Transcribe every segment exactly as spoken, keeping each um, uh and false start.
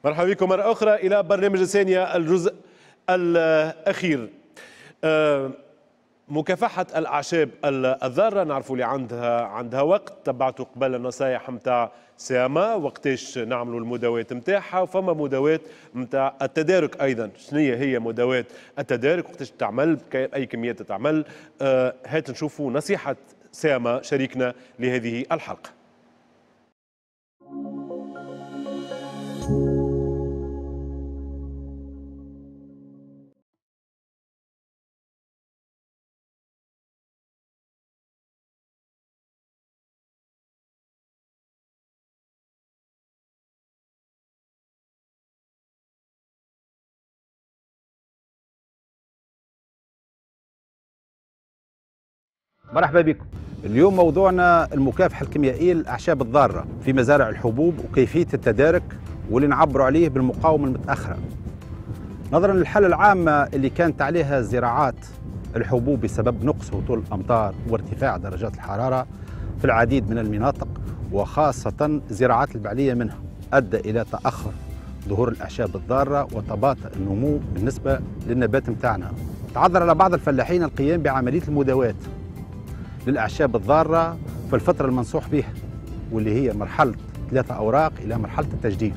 مرحبا بكم مرة أخرى إلى برنامج الثانية الجزء الأخير. مكافحة الأعشاب الضارة نعرفوا اللي عندها عندها وقت، تبعتوا قبل النصايح نتاع سياما وقتاش نعملوا المداوات نتاعها، وفما مداوات نتاع التدارك أيضا. شنو هي مداوات التدارك، وقتاش تعمل، بأي كميات تعمل؟ هات نشوفوا نصيحة سياما شريكنا لهذه الحلقة. مرحبا بكم. اليوم موضوعنا المكافحة الكيميائية للأعشاب الضارة في مزارع الحبوب وكيفية التدارك واللي نعبروا عليه بالمقاومة المتأخرة. نظرا للحالة العامة اللي كانت عليها زراعات الحبوب بسبب نقص هطول الأمطار وارتفاع درجات الحرارة في العديد من المناطق وخاصة زراعات البعلية منها، أدى إلى تأخر ظهور الأعشاب الضارة وتباطؤ النمو بالنسبة للنبات متاعنا. تعذر على بعض الفلاحين القيام بعملية المداواة للأعشاب الضارة في الفترة المنصوح بها واللي هي مرحلة ثلاثة أوراق إلى مرحلة التجديد.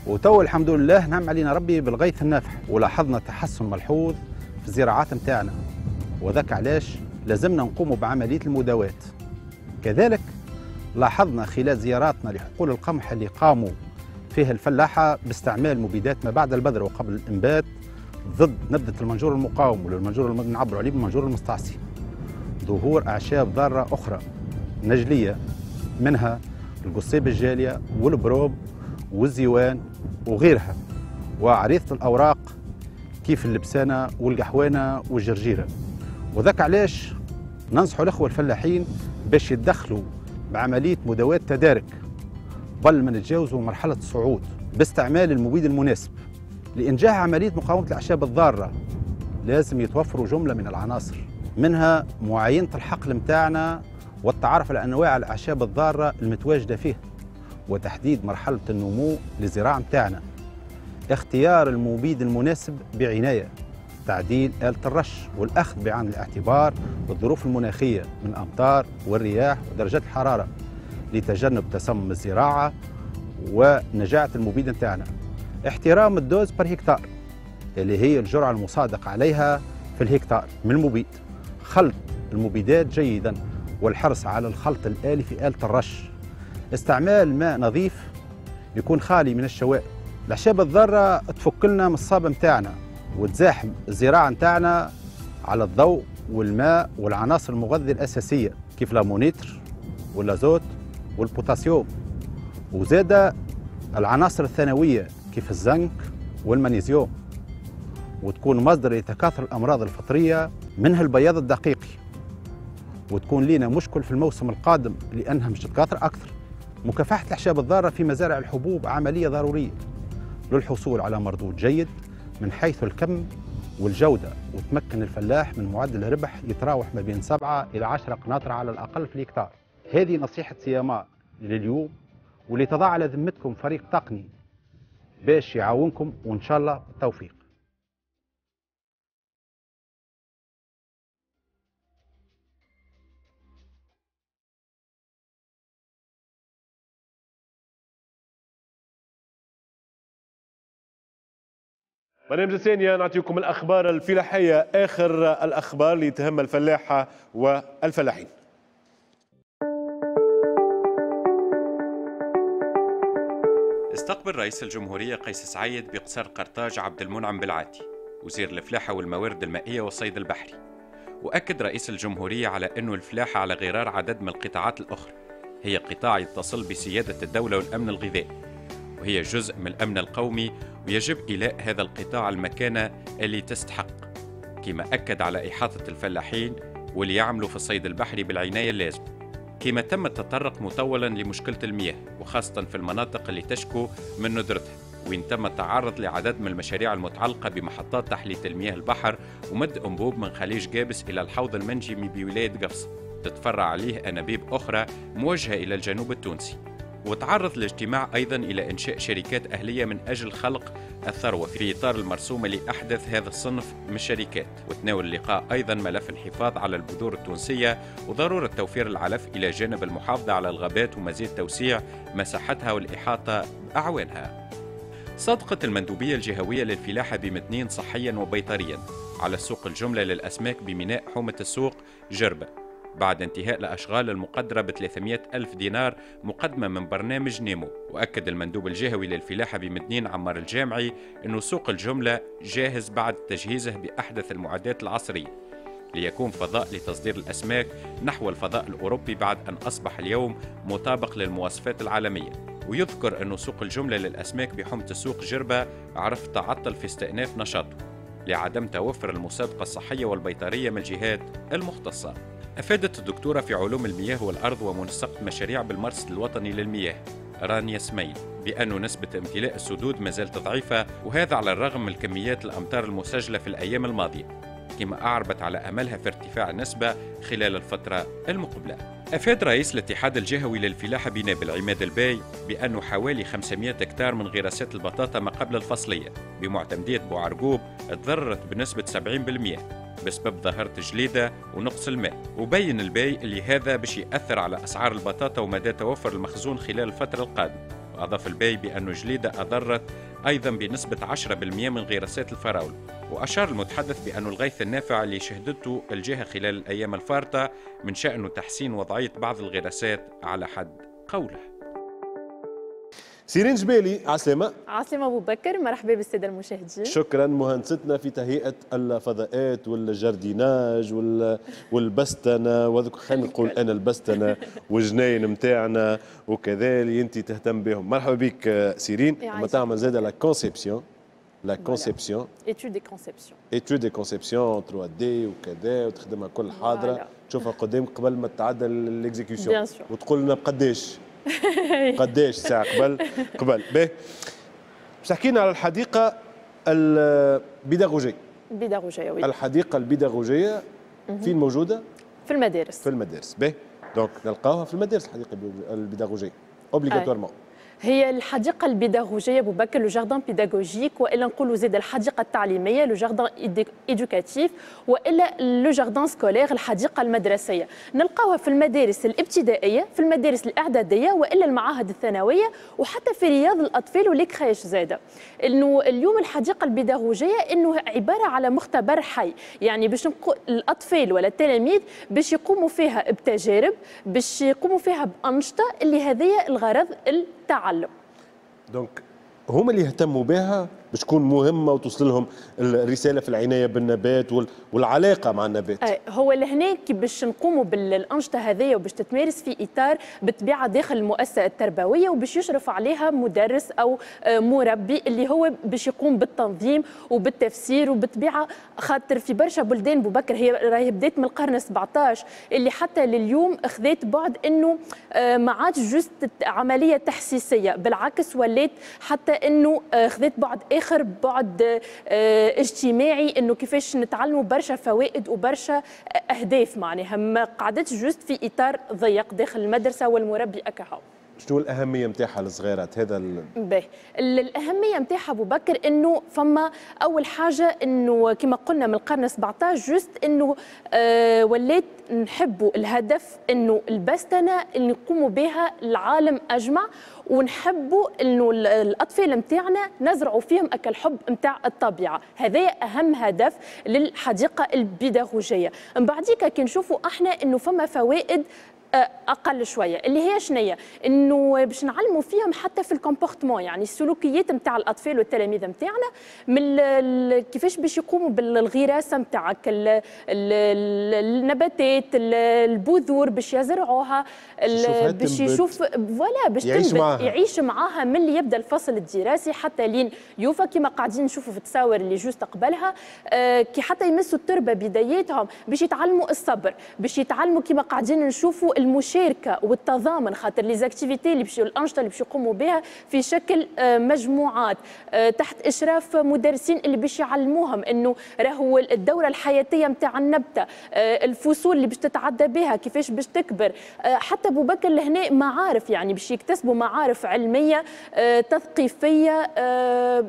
وتو الحمد لله نعم علينا ربي بالغيث النافع، ولاحظنا تحسن ملحوظ في الزراعات متاعنا، وذاك علاش لازمنا نقوم بعملية المداواة. كذلك لاحظنا خلال زياراتنا لحقول القمح اللي قاموا فيها الفلاحة باستعمال مبيدات ما بعد البذر وقبل الإنبات ضد نبتة المنجور المقاوم والمنجور اللي نعبروا عليه بالمنجور المستعصي، ظهور أعشاب ضارة أخرى نجلية منها القصيب الجالية والبروب والزيوان وغيرها، وعريضة الأوراق كيف اللبسانة والقحوانة والجرجيرة. وذاك علاش ننصحوا الأخوة الفلاحين باش يتدخلوا بعملية مداواة تدارك قبل ما نتجاوزوا مرحلة الصعود باستعمال المبيد المناسب. لإنجاح عملية مقاومة الأعشاب الضارة لازم يتوفروا جملة من العناصر، منها معاينة الحقل متاعنا والتعرف على أنواع الأعشاب الضارة المتواجدة فيه، وتحديد مرحلة النمو للزراعة متاعنا، اختيار المبيد المناسب بعناية، تعديل آلة الرش والأخذ بعين الاعتبار الظروف المناخية من أمطار والرياح ودرجات الحرارة لتجنب تسمم الزراعة ونجاعة المبيد متاعنا، احترام ال dose par hectare اللي هي الجرعة المصادق عليها في الهكتار من المبيد، خلط المبيدات جيدا والحرص على الخلط الآلي في آلة الرش، استعمال ماء نظيف يكون خالي من الشوائب. الأعشاب الضارة تفك لنا من الصابة متاعنا وتزاحم الزراعة متاعنا على الضوء والماء والعناصر المغذية الأساسية كيف l'ammonitre والأزوت والبوتاسيوم، وزاد العناصر الثانوية كيف الزنك والمغنيسيوم، وتكون مصدر لتكاثر الأمراض الفطرية منها البياض الدقيقي، وتكون لنا مشكل في الموسم القادم لأنها مش تتكاثر أكثر. مكافحة الأعشاب الضارة في مزارع الحبوب عملية ضرورية للحصول على مردود جيد من حيث الكم والجودة، وتمكن الفلاح من معدل ربح يتراوح ما بين سبعة إلى عشرة قناطر على الأقل في الهكتار. هذه نصيحة سياما لليوم واللي تضع على ذمتكم فريق تقني باش يعاونكم، وإن شاء الله بالتوفيق. برنامج الثانية نعطيكم الأخبار الفلاحية، آخر الأخبار اللي تهم الفلاحة والفلاحين. استقبل رئيس الجمهورية قيس سعيد بقصر قرطاج عبد المنعم بالعاتي وزير الفلاحة والموارد المائية والصيد البحري، وأكد رئيس الجمهورية على أنه الفلاحة على غرار عدد من القطاعات الأخرى هي قطاع يتصل بسيادة الدولة والأمن الغذائي، وهي جزء من الأمن القومي، ويجب إيلاء هذا القطاع المكانة اللي تستحق. كما أكد على إحاطة الفلاحين واللي يعملوا في الصيد البحري بالعناية اللازمة. كما تم التطرق مطولا لمشكلة المياه وخاصة في المناطق اللي تشكو من ندرتها، وين تم التعرض لعدد من المشاريع المتعلقة بمحطات تحلية المياه البحر ومد أنبوب من خليج جابس إلى الحوض المنجمي بولاية قفصة تتفرع عليه أنابيب أخرى موجهة إلى الجنوب التونسي. وتعرض الاجتماع أيضا إلى إنشاء شركات أهلية من أجل خلق الثروة في إطار المرسوم اللي أحدث هذا الصنف من الشركات. وتناول اللقاء أيضا ملف الحفاظ على البذور التونسية وضرورة توفير العلف إلى جانب المحافظة على الغابات ومزيد توسيع مساحتها والإحاطة بأعوانها. صدقت المندوبية الجهوية للفلاحة بمتنين صحيا وبيطريا على سوق الجملة للأسماك بميناء حومة السوق جربة بعد انتهاء الأشغال المقدرة ب ثلاثمئة ألف دينار مقدمة من برنامج نيمو. وأكد المندوب الجهوي للفلاحة بمدنين عمار الجامعي أنه سوق الجملة جاهز بعد تجهيزه بأحدث المعدات العصرية ليكون فضاء لتصدير الأسماك نحو الفضاء الأوروبي بعد أن أصبح اليوم مطابق للمواصفات العالمية. ويذكر أنه سوق الجملة للأسماك بحومة السوق جربة عرف تعطل في استئناف نشاطه لعدم توفر المصادقة الصحية والبيطرية من الجهات المختصة. أفادت الدكتورة في علوم المياه والأرض ومنسقة مشاريع بالمرصد الوطني للمياه رانيا سميل بأن نسبة امتلاء السدود ما زالت ضعيفة، وهذا على الرغم من كميات الأمطار المسجلة في الأيام الماضية، كما أعربت على أملها في ارتفاع النسبة خلال الفترة المقبلة. أفاد رئيس الاتحاد الجهوي للفلاحة بنابل عماد الباي بأنه حوالي خمسمئة هكتار من غراسات البطاطا ما قبل الفصلية بمعتمدية بوعرقوب تضررت بنسبة سبعين بالمئة بسبب ظاهرة الجليدة ونقص الماء. وبين الباي اللي هذا باش يأثر على أسعار البطاطا ومدى توفر المخزون خلال الفترة القادمة. وأضاف الباي بأن الجليدة أضرت أيضا بنسبة عشرة بالمئة من غراسات الفراولة. وأشار المتحدث بأن الغيث النافع اللي شهدته الجهة خلال الأيام الفارطة من شأنه تحسين وضعية بعض الغراسات على حد قوله. سيرين جبالي، عسلامة. عسلامة أبو بكر، مرحبا بالسادة المشاهدين. شكرا مهندستنا في تهيئة الفضاءات وال jardinage وال... والبستنة وذوك، خلينا نقول أنا البستنة والجناين نتاعنا وكذا اللي أنت تهتم بهم. مرحبا بك سيرين. ما تعمل زاد la conception la conception étude et conception étude et conception ثري دي وكذا، وتخدمها كل حاضرة تشوفها قدامك قبل ما تعدل l'exécution وتقول لنا بقداش قداش ساعة قبل قبل. باهي، باش تحكينا على الحديقة البيداغوجية. البيداغوجية oui. الحديقة البيداغوجية فين موجودة؟ في المدارس. في المدارس، باهي، donc نلقاوها في المدارس الحديقة البيداغوجية obligatoirement. هي الحديقة البيداغوجية أبو بكر le jardin pédagogique، وإلا نقولوا زيد الحديقة التعليمية le jardin éducatif، وإلا le jardin scolaire الحديقة المدرسية. نلقاوها في المدارس الابتدائية، في المدارس الإعدادية، وإلا المعاهد الثانوية، وحتى في رياض الأطفال و les crèches زادة. إنه اليوم الحديقة البيداغوجية إنه عبارة على مختبر حي، يعني باش الأطفال ولا التلاميذ باش يقوموا فيها بتجارب، باش يقوموا فيها بأنشطة اللي هذه الغرض التعلم. donc هما اللي يهتموا بها باش تكون مهمة وتوصل لهم الرسالة في العناية بالنبات والعلاقة مع النبات. هو لهنا كي باش نقوموا بالانشطه هذيا وباش تتمارس في اطار بالطبيعة داخل المؤسسة التربوية، وباش يشرف عليها مدرس او مربي اللي هو باش يقوم بالتنظيم وبالتفسير. وبالطبيعه خاطر في برشا بلدان بوبكر هي راهي بدات من القرن سبعطاش اللي حتى لليوم خذات بعد انه ما عادش juste عملية تحسيسيه، بالعكس ولات حتى انه خذت بعد اخر، بعد اجتماعي، انه كيفاش نتعلموا برشا فوائد وبرشا اهداف، معناها ما قعدتش juste في اطار ضيق داخل المدرسة والمربي اكاهو. شنو الاهمية نتاعها للصغيرات هذا ال... باهي، الاهمية نتاعها ابو بكر انه فما اول حاجة انه كما قلنا من القرن سبعطاش juste انه آه ولات نحبوا الهدف انه البستنه اللي نقوموا بها العالم اجمع، ونحبوا انه الاطفال نتاعنا نزرعوا فيهم اكل الحب نتاع الطبيعة، هذا اهم هدف للحديقه البيداغوجيه. من بعديك كي نشوفوا احنا انه فما فوائد اقل شوية اللي هي شنية، انه باش نعلموا فيهم حتى في ال comportement، يعني السلوكيات نتاع الاطفال والتلاميذ نتاعنا، من كيفاش باش يقوموا بالغراسه نتاعك النباتات، البذور باش يزرعوها، باش يشوف voilà باش يعيش معاها، يعيش معاها من اللي يبدا الفصل الدراسي حتى لين يوفى، كما قاعدين نشوفوا في التصاور اللي juste قبلها، كي حتى يمسوا التربة بداياتهم باش يتعلموا الصبر، باش يتعلموا كما قاعدين نشوفوا المشاركة والتضامن، خاطر les activités اللي باش الانشطة اللي باش يقوموا بها في شكل مجموعات تحت اشراف مدرسين اللي باش يعلموهم انه راهو الدورة الحياتية نتاع النبته، الفصول اللي باش تتعدى بها، كيفاش باش تكبر. حتى ابو بكر لهنا معارف، يعني باش يكتسبوا معارف علمية تثقيفيه،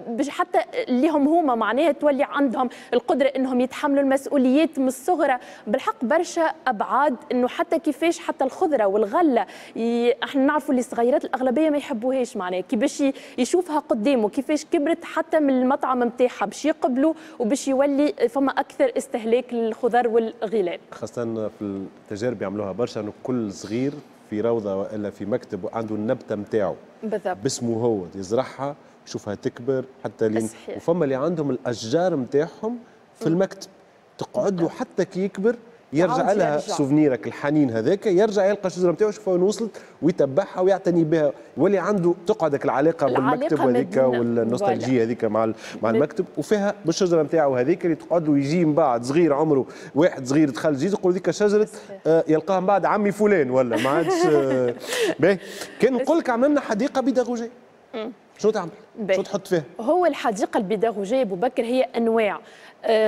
باش حتى اللي هم هما معناها تولي عندهم القدرة انهم يتحملوا المسؤوليات من الصغرى. بالحق برشا ابعاد، انه حتى كيفاش حتى الخضرة والغلة ي... احنا نعرفوا اللي الصغيرات الاغلبية ما يحبوهاش، معناها كي باش يشوفها قدامه كيفاش كبرت حتى من المطعم نتاعها باش يقبلوا وباش يولي فما اكثر استهلاك للخضر والغلال. خاصة في التجارب يعملوها برشا، انه كل صغير في روضة والا في مكتب عنده النبتة نتاعو بالضبط باسمه هو، يزرعها يشوفها تكبر حتى لين. وفما اللي عندهم الاشجار نتاعهم في المكتب تقعد له حتى كي يكبر يرجع لها souvenir ك الحنين هذاك، يرجع يلقى الشجرة نتاعو يشوفها وين وصلت ويتبعها ويعتني بها، يولي عنده تقعدك العلاقة بالمكتب وهذيك وال nostalgie هذيك مع مع المكتب، وفيها بالشجرة نتاعو هذيك اللي تقعد له يجي من بعد صغير عمره واحد صغير دخل جديد يقول ذيك شجرة آه يلقاها من بعد عمي فلان ولا ما عادش. آه باهي، كان نقول لك عملنا حديقة بيداغوجيه، شنو تعمل؟ شو تحط فيها؟ هو الحديقة البيداغوجيه ابو بكر هي انواع،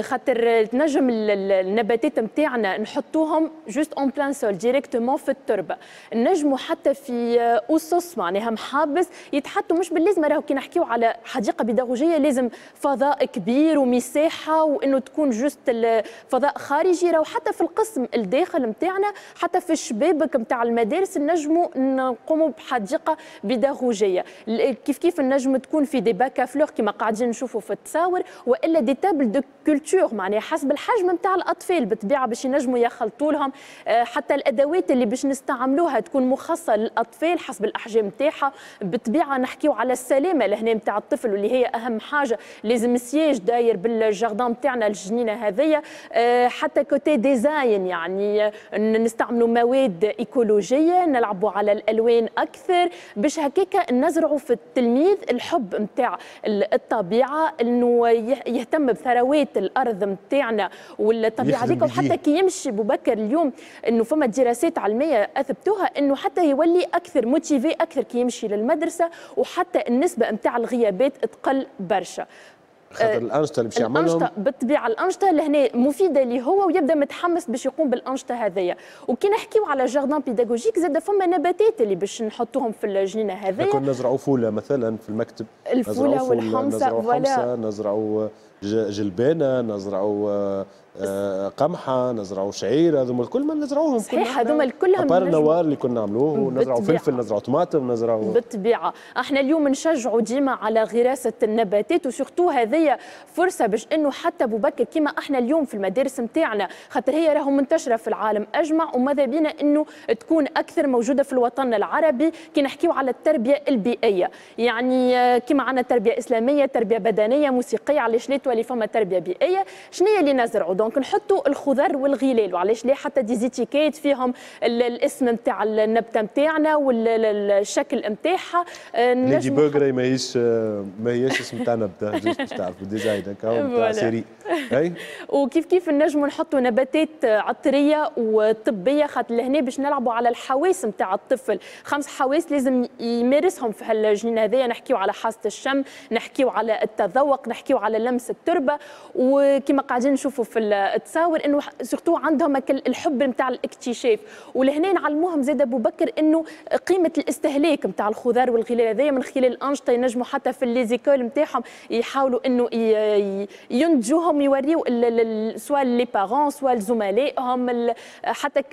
خاطر تنجم النباتات نتاعنا نحطوهم juste en plein sol directement في التربة، نجموا حتى في اسس معناها محابس يتحطوا، مش باللازم راهو كي نحكيو على حديقة بيداغوجيه لازم فضاء كبير ومساحة وانه تكون juste فضاء خارجي، راهو حتى في القسم الداخل نتاعنا حتى في الشبابك نتاع المدارس نجموا نقوموا بحديقه بيداغوجيه. كيف كيف نجم تكون في des bacs à fleurs كما قاعدين نشوفوا في التصاور، والا des tables de culture معناها حسب الحجم نتاع الاطفال بالطبيعة باش ينجموا يخلطوا لهم، حتى الادوات اللي باش نستعملوها تكون مخصصة للاطفال حسب الاحجام نتاعها. بالطبيعة نحكيو على السلامة لهنا نتاع الطفل واللي هي اهم حاجة، لازم siège داير بال jardin نتاعنا الجنينة هذيا. حتى côté design يعني نستعملوا مواد ايكولوجيه، نلعبوا على الالوان اكثر باش هكاك نزرعوا في التلميذ الحب نتاع الطبيعة، انه يهتم بثروات الارض نتاعنا والطبيعة هذيك. وحتى كي يمشي بوبكر اليوم انه فما دراسات علمية اثبتوها انه حتى يولي اكثر motivé اكثر كي يمشي للمدرسة، وحتى النسبة نتاع الغيابات تقل برشا. خاطر الانشطة اللي باش يعملهم بالطبيعة الانشطة لهنا مفيدة اللي هو ويبدا متحمس باش يقوم بالانشطه هذيا. وكي نحكيو على jardin pédagogique زاد فما نباتات اللي باش نحطوهم في الجنينة هذيا، كنا نزرعوا فوله مثلا في المكتب، الفوله والحمصه، نزرعوا حمصه، نزرعوا جلبانه، نزرعوا قمحه، نزرعوا شعير، هذوما الكل ما نزرعوهم. صحيح هذوما الكل à part النوار اللي كنا نعملوه، ونزرعوا فلفل، نزرعوا طماطم، نزرعوا. بالطبيعة احنا اليوم نشجعوا ديما على غراسه النباتات، و surtout هذه فرصة باش انه حتى ابو بكر كيما احنا اليوم في المدارس نتاعنا، خاطر هي راهو منتشرة في العالم اجمع، وماذا بينا انه تكون اكثر موجودة في الوطن العربي. كي نحكيو على التربية البيئية، يعني كيما عندنا تربيه اسلامية، تربيه بدنية، موسيقية، علاش لا تولي فما تربيه بيئية؟ شنو هي اللي نزرعوا؟ donc نحطوا الخضر والغلال، وعلاش لا حتى des étiquettes فيهم الاسم نتاع النبتة نتاعنا والشكل نتاعها. Ladybug راهي ماهيش ماهيش اسم تاع نبته، juste باش تعرفوا design هكا نتاع série. اي وكيف كيف نجموا نحطوا نباتات عطريه وطبيه، خاطر لهنا باش نلعبوا على الحواس نتاع الطفل، خمس حواس لازم يمارسهم في هالجنينه هذيا. نحكيو على حاسه الشم، نحكيو على التذوق، نحكيو على لمس التربة، وكما قاعدين نشوفوا في التصاور انه surtout عندهم الحب نتاع الاكتشاف. ولهنا نعلموهم زاد ابو بكر انه قيمة الاستهلاك نتاع الخضار والغلال هذايا من خلال الانشطة، ينجموا حتى في les écoles نتاعهم يحاولوا انه ينتجوهم، يوريو soit les parents soit زملائهم، حتى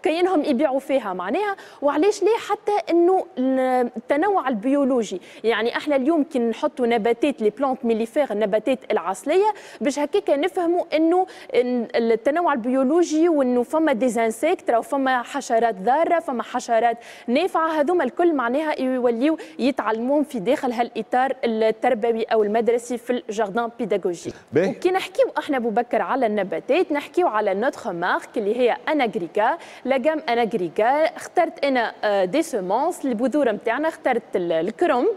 كاينهم يبيعوا فيها معناها. وعلاش ليه حتى انه التنوع البيولوجي، يعني احنا اليوم كي نحطوا نباتات les plantes mellifères، النباتات العسليه، باش هكاك نفهموا انه التنوع البيولوجي، وانه فما des insectes، راهو فما حشرات ضارة، فما حشرات نافعة، هذوما الكل معناها يوليو يتعلمون في داخل هالاطار التربوي او المدرسي في ال jardin pédagogique. وكي نحكيو احنا ابو بكر على النباتات، نحكيو على notre marque اللي هي اناغريكا، la gamme اناغريكا. اخترت انا des semences، البذور نتاعنا، اخترت الكرنب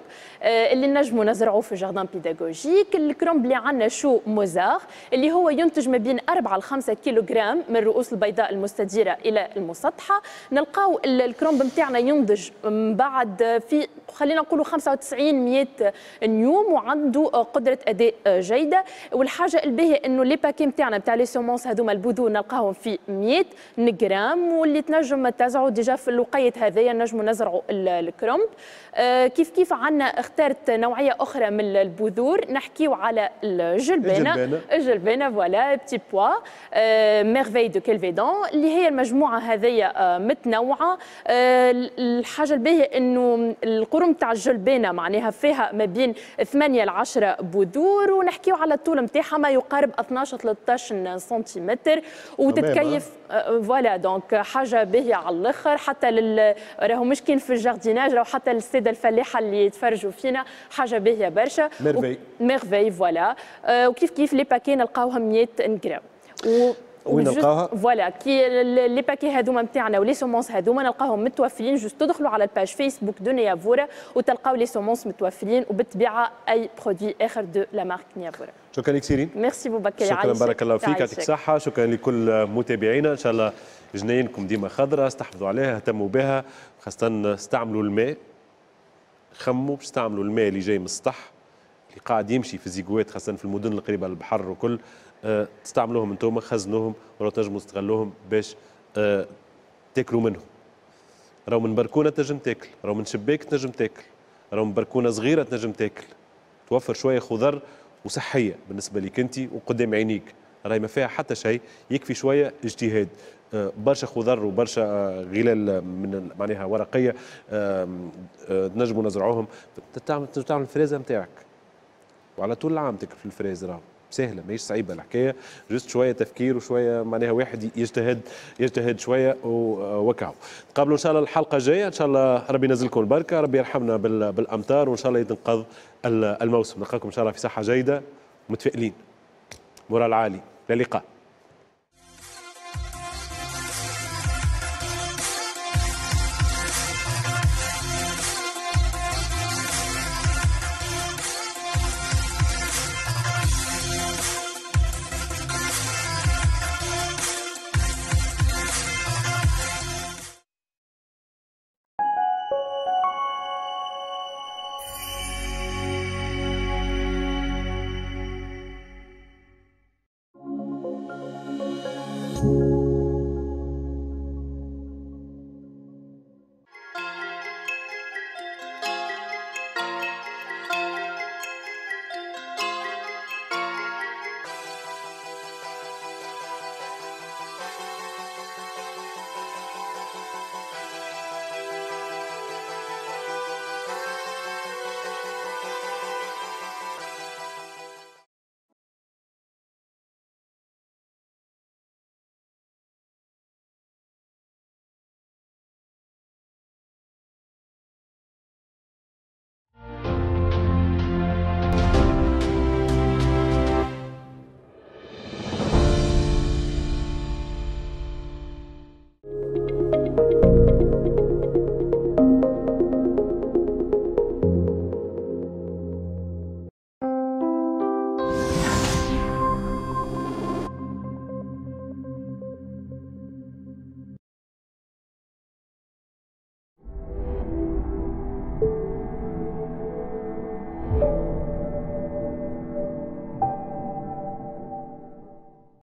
اللي نجموا نزرعوه في jardin pédagogique، الكرنب اللي عندنا chou Mozart اللي هو ينتج ما بين أربعة ل خمسة كيلوغرام من الرؤوس البيضاء المستديرة الى المسطحه. نلقاو الكرنب نتاعنا ينضج من بعد في خلينا نقولوا خمسة وتسعين مية يوم، وعنده قدره اداء جيدة. والحاجة الباهيه انه les paquets نتاعنا نتاع les semences هذوما البذور نلقاهم في مية غرام، واللي تنجم تزرعوا déjà في الوقيت هذايا نجموا نزرعوا الكرنب. كيف كيف عندنا اخترت نوعية اخرى من البذور، نحكيو على الجلبانه الجلبانه voilà petits pois Merveille de Kelvedon اللي هي المجموعة هذيا متنوعة. الحاجة الباهيه انه القرون تاع الجلبانه معناها فيها ما بين ثمانية ل عشرة بذور، ونحكيو على الطول نتاعها ما يقارب اثناش ثلاثة عشر سنتيمتر، وتتكيف voilà. donc حاجة باهيه على الاخر، حتى لل راهو مش كاين في ال jardinage، راهو حتى للسادة الفلاحة اللي يتفرجوا فينا حاجة باهيه برشا. Merveille Merveille voilà. وكيف كيف les paquets نلقاوهم مية غرام. و وين نلقاوها؟ voilà كي les paquets هذوما نتاعنا و les semences هذوما نلقاهم متوفرين، juste تدخلوا على ال page Facebook de نيافورا وتلقاو les semences متوفرين، وبالطبيعه اي produit اخر de la marque نيافورا. شكرا لك سيرين. ميرسي بوبكر، شكرا بارك الله فيك، يعطيك الصحة. شكرا لكل متابعينا، ان شاء الله جناينكم ديما خضراء، استحفظوا عليها، اهتموا بها، خاصة استعملوا الماء، خموا باش تستعملوا الماء اللي جاي من السطح اللي قاعد يمشي في les égouts، خاصة في المدن القريبة للبحر وكل، أه تستعملوهم انتم، خزنوهم ولا تنجموا تستغلوهم باش أه تاكلوا منهم. راهو من بركونه تنجم تاكل، راهو من شباك تنجم تاكل، راهو من بركونه صغيرة تنجم تاكل، توفر شوية خضر وصحية بالنسبة لك انت وقدام عينيك، راهي ما فيها حتى شيء، يكفي شوية اجتهاد. برشا خضر وبرشا غلال من معناها ورقية تنجموا نزرعوهم، تعمل تعمل الفريزه نتاعك وعلى طول العام تاكل في الفريز، راهو سهلة ماهيش صعيبة الحكاية، juste شوية تفكير وشوية معناها واحد يجتهد يجتهد شوية وكاو. نتقابلوا ان شاء الله الحلقة الجاية، ان شاء الله ربي ينزلكم البركة، ربي يرحمنا بالامطار، وان شاء الله يتنقذ الموسم. نلقاكم ان شاء الله في صحة جيدة متفائلين، moral عالي، الى اللقاء.